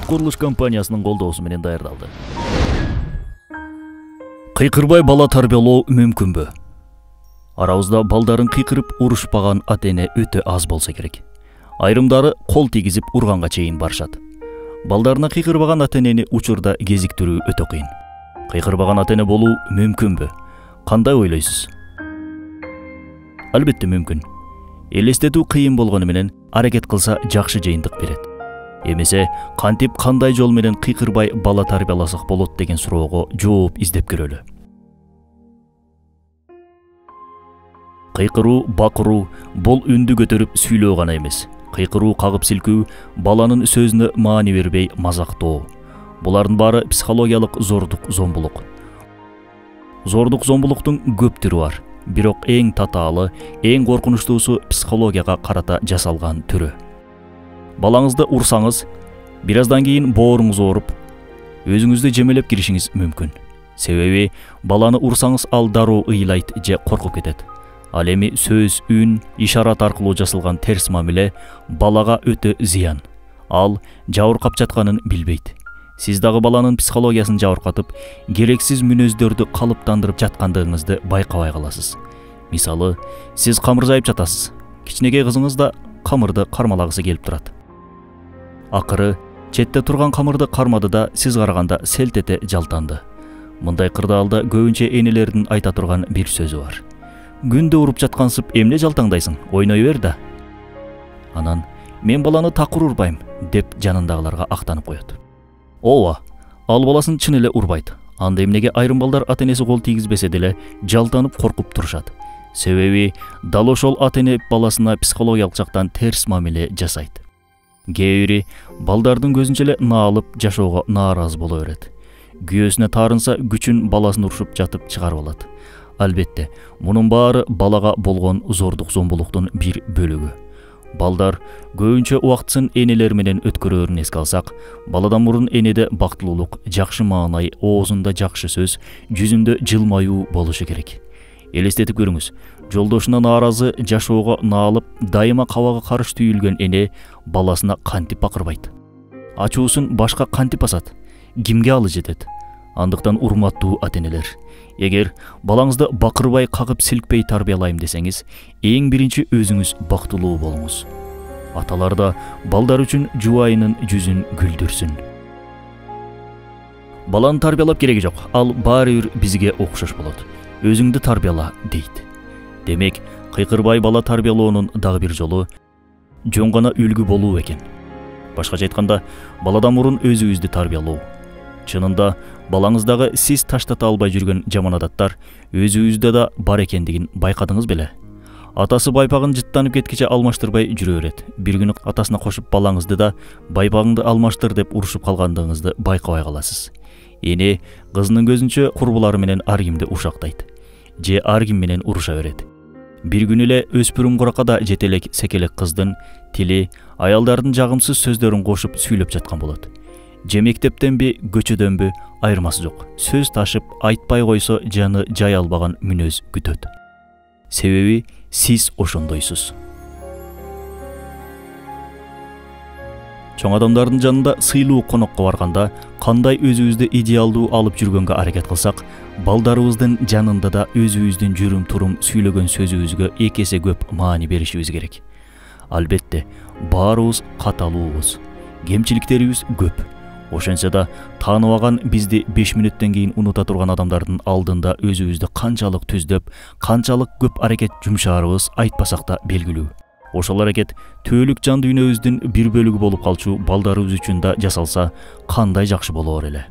курулуш компаниясынын колдоосу менен даярдалды. Кыйкырбай бала тарбиялоо мүмкүнбү? Арабызда балдарын кыйкырып урушпаган ата-эне өтө аз болсо керек. Айрымдары кол тийгизип урганга чейин барышат. Балдарына кыйкырбаган ата-энени учурда кезиктирүү өтө кыйын. Кыйкырбаган ата-эне болуу мүмкүнбү? Кандай ойлойсуз? Албетте мүмкүн. Элестетүү кыйын болгону менен аракет кылса жакшы жыйынтык берет. Эмесе кантип кандай жол менен кыйкырбай бала тарбияласак болот деген суроого жооп издеп көрөлү. Кыйкыруу, бакыруу бул үндү көтөрүп сүйлөө гана эмес. Кыйкыруу, кагып силкүү, баланын сөзүнө маани бербей мазактоо. Булардын баары психологиялык зордук, зомбулук. Зордук, зомбулуктун көп түрү бар. Бирок эң татаалы, эң коркунучтуусу психологияга карата жасалган түрү. Балаңызды урсаңыз, бир аздан кийин бооруңуз ооруп, өзүңүздү жемелеп киришиңиз мүмкүн. Себеби баланы урсаңыз ал дароо ыйлайт же коркуп кетет. Ал эми сөз, үн, ишарат аркылуу жасалган терс мамиле балага өтө зыян. Ал жабыркап жатканын билбейт. Сиз дагы баланын психологиясын жабыркатып, керексиз мүнөздөрдү калыптандырып жаткандыгыңызды байкабай каласыз. Мисалы, сиз камыр жайып жатасыз. Кичинекей кызыңыз да камырды кармалагысы келип турат. Акыры четте турган камырды кармады да сиз караганда селт эте жалтанды. Мындай кырдаалда көбүнчө энелердин айта турган бир сөзү бар. Күндө уруп жаткансып эмне жалтаңдайсың? Ойной бер да. Анан мен баланы такыр урбайм деп жанындагыларга актанып коет. Ооба, ал баласын чын эле урбайт. Анда эмнеге айрым балдар ата-энеси кол тийгизбесе деле жалтанып коркуп турушат? Себеби дал ошол ата-эне баласына психологиялык жактан терс мамиле жасайт. Кээ бири балдардын көзүнчө эле наалып жашоого нааразы боло берет. Күйөөсүнө таарынса күчүн баласын урушуп жатып чыгарып алат. Албетте, мунун баары балага болгон зордук, зомбулуктун бир бөлүгү. Балдар көбүнчө убактысын энелер менен өткөрөөрүн эске алсак, баладан мурун энеде бактылуулук, жакшы маанай, оозунда жакшы сөз, жүзүндө жылмаюу болушу керек. Элестетип көрүңүз, жолдошуна нааразы, жашоого наалып, дайыма кабагы карыш түйүлгөн эне баласына кантип бакырбайт? Ачуусун башка кантип басат? Кимге алы жетет? Андыктан урматтуу ата-энелер, эгер балаңызды бакырбай, кагып силкпей тарбиялайм десеңиз, эң биринчи өзүңүз бактылуу болуңуз. Аталар да балдар үчүн жубайынын жүзүн күлдүрсүн. Баланы тарбиялап кереги жок, ал баары бир бизге окшош болот. Өзүңдү тарбияла дейт. Демек, кыйкырбай бала тарбиялоонун дагы бир жолу жөн гана үлгү болуу экен. Башкача айтканда, баладан мурун өзүбүздү тарбиялоо. Чынында, балаңыздагы сиз таштата албай жүргөн жаман адаттар өзүбүздө да бар экендигин байкадыңыз беле? Атасы байпагын жыттанып кеткиче алмаштырбай жүрө берет. Бир күнү атасына кошуп балаңызды да байпагыңды алмаштыр деп урушуп калгандыгыңызды байкабай каласыз. Эне кызынын көзүнчө курбулары менен ар кимди уршактайт. Же ар ким менен уруша берет. Бир күнү эле өспүрүм куракада жетелек секелек кыздын тили аялдардын жагымсыз сөздөрүн кошуп сүйлөп жаткан болот. Же мектептенби, көчөдөнбү, айырмасы жок. Сөз ташып, айтпай койсо жаны жай албаган мүнөз күтөт. Себеби сиз ошондойсуз. Чоң адамдардын жанында сыйлуу конокко барганда кандай өзүбүздү идеалдуу алып жүргөнгө аракет кылсак, балдарыбыздын жанында да өзүбүздүн жүрүм-турум сүйлөгөн сөзүбүзгө эки эсе көп маани беришибиз керек. Албетте, баарыбыз каталуубуз. Кемчиликтерибиз көп. Ошентсе да тааныбаган бизди 5 мүнөттөн кийин унута турган адамдардын алдында өзүбүздү канчалык түздөп, канчалык көп аракет жумшаарыбыз айтпасак да белгилүү. Ошол аракет түбөлүк жан дүйнөбүздүн бир бөлүгү болуп калчу балдарыбыз үчүн да жасалса кандай жакшы болоор эле.